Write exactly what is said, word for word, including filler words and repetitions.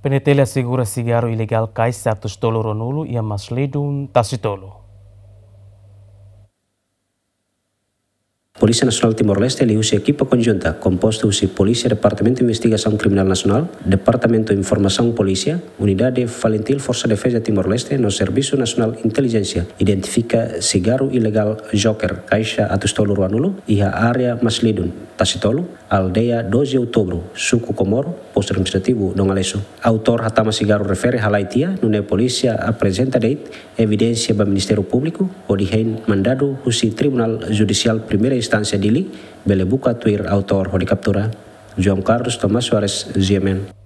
PNTL asegura sigarru ilegál kaixa atus tolu ruanulu iha Maslidun, Tasitolu. Polísia Nasionál Timor-Leste liuhusi ekipa konjunta kompostu husi Polísia Departamentu Investigasaun Kriminál Nasionál, Departamentu Informasaun Polísia, Unidade Falintil Forsa Defeza Timor-Leste no Servisu Nasionál Intelijénsia identifika sigarru ilegál Joker kaixa atus tolu ruanulu iha área Maslidun, Tasitolu, aldeia doze Outubru, suku Komoro, postu administrativu Dongalesu. Autór hatama sigarru refere halai tiha, nune'e polísia aprezenta de'it evidénsia ba Ministériu Públiku hodi hein mandadu husi Tribunál Judisiál Primeira Instánsia Dili bele buka tuir autór hodi kaptura. João Carlos Tomás Soares, G M N.